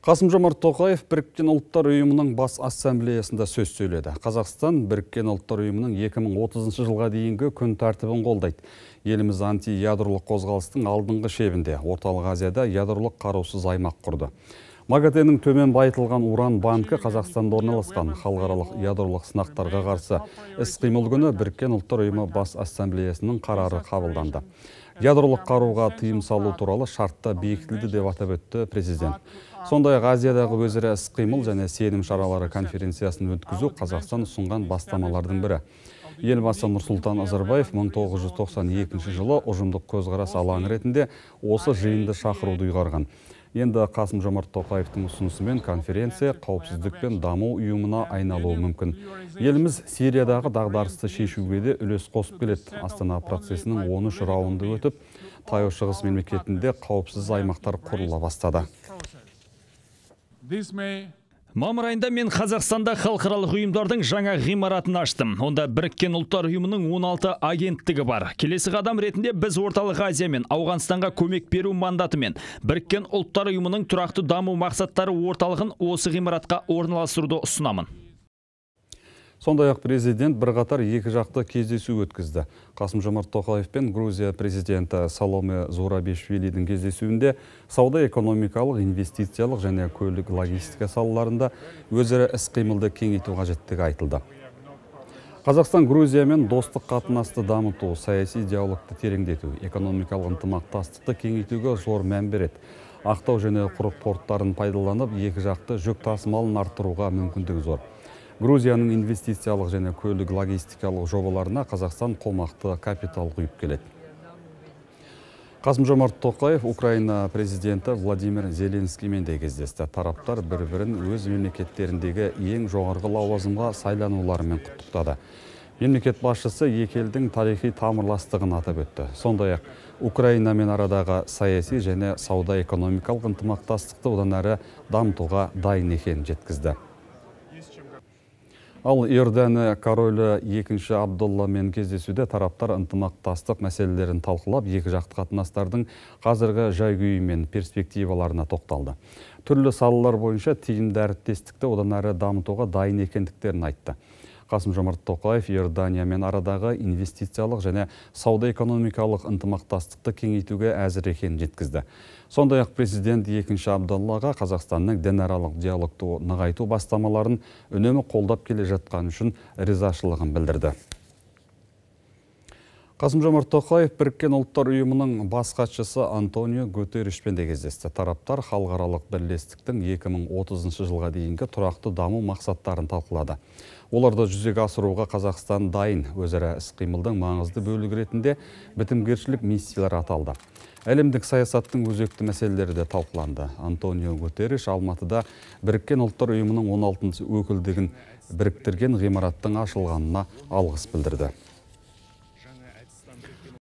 Қасым-Жомарт Тоқаев Біріккен ұлттар ұйымының бас ассамблеясында сөз сөйледі. Қазақстан Біріккен ұлттар ұйымының 2030 жылға дейінгі күн тәртібін қолдайды. Еліміз анти-ядролық қозғалыстың алдыңғы шебінде Орталық Азияда ядролық қарусыз аймақ құрды. МАГАТЭ-нің төмен байытылған уран банкі Қазақстанда орналасқан. Халықаралық ядролық сынақтарға қарсы іс-қимыл күні Біріккен ұлттар ұйымы бас ассамблеясының қарары қабылданды. Ядролық қаруға тыйым салу туралы шартта бекітілді деп атап өтті президент. Сондай-ақ Азиядағы өзара іс-қимыл және сенім шаралары конференциясын өткізу Қазақстан ұсынған бастамалардың бірі. Елбасы Нұрсұлтан Назарбаев 1992 жылы ұжымдық көзқарас алаңы ретінде осы жиынды шақыруды ұйғарған. Енді Қасым-Жомарт Тоқаевтың ұсынысымен конференция қауіпсіздік пен даму ұйымына айналуы мүмкін. Еліміз Сириядағы дағдарысты шешуге де үлес қосып келеді. Астана процесінің 13 раунды өтіп, Таяу Шығыс мемлекетінде қауіпсіз аймақтар құрыла бастады. Мамыр айында мен Қазақстанда халықаралық ұйымдардың жаңа ғимаратын аштым. Онда Біріккен ұлттар ұйымының 16 агенттігі бар. Келесі қадам ретінде біз Орталық Азия мен Ауғанстанға көмек беру мандатымен Біріккен ұлттар ұйымының тұрақты даму мақсаттары орталығын осы ғимаратқа орналастыруды ұсынамын. Сондай-ақ президент бірқатар екі жақты кездесу өткізді. Қасым-Жомарт Тоқаев пен Грузия президенті Саломе Зурабишвилидің кездесуінде сауда-экономикалық, инвестициялық және көлік логистика салаларында өзара іс-қимылды кеңейту қажеттігі айтылды. Қазақстан Грузиямен достық қатынасты дамыту, саяси диалогты тереңдету, экономикалық ынтымақтастықты кеңейтуге зор мән береді. Ақтау және құрық порттарын пайдаланып, екі жақты жүк тасымалын арттыруға мүмкіндігі зор. Грузияның инвестициялық және көлік логистикалық жобаларына Қазақстан қомақты капитал құйып келеді. Қасым-Жомарт Тоқаев Украина президенті Владимир Зеленскиймен де кездесті. Тараптар бір-бірін өз мемлекеттеріндегі ең жоғарғы лауазымға сайлануларымен құттықтады. Мемлекет басшысы екі елдің тарихи тамырластығын атап өтті. Сондай-ақ Украинамен арадағы саяси және сауда-экономикалық ынтымақтастықты одан әрі дамытуға дайын екенін жеткізді. Ал Иордания королі 2-ші Абдулламен кездесуде тараптар ынтымақтастық мәселелерін талқылап, екі жақты қатынастардың қазіргі жай-күйі мен перспективаларына тоқталды. Түрлі салалар бойынша тиімді әріптестікті одан әрі дамытуға дайын екендіктерін айтты. Қасым-Жомарт Тоқаев Иорданиямен арадағы инвестициялық және сауда-экономикалық ынтымақтастықты кеңейтуге әзір екенін жеткізді. Сондай-ақ президент 2-ші Абдуллаға Қазақстанның дінаралық диалогты нығайту бастамаларын үнемі қолдап келе жатқаны үшін ризашылығын білдірді. Қасым-Жомарт Тоқаев Біріккен ұлттар ұйымының бас хатшысы Антонио Гутерришпен де кездесті. Тараптар халықаралық бірлестіктің 2030 жылға дейінгі тұрақты даму мақсаттарын талқылады. Оларды жүзеге асыруға Қазақстан дайын. Өзара іс-қимылдың маңызды бөлігі ретінде бітімгершілік миссиялар аталды. Әлемдік саясаттың өзекті мәселелері де талқыланды. Антонио Гутерриш Алматыда Біріккен ұлттар ұйымының 16-шы өкілдігін біріктірген ғимараттың ашылғанына алғыс білдірді.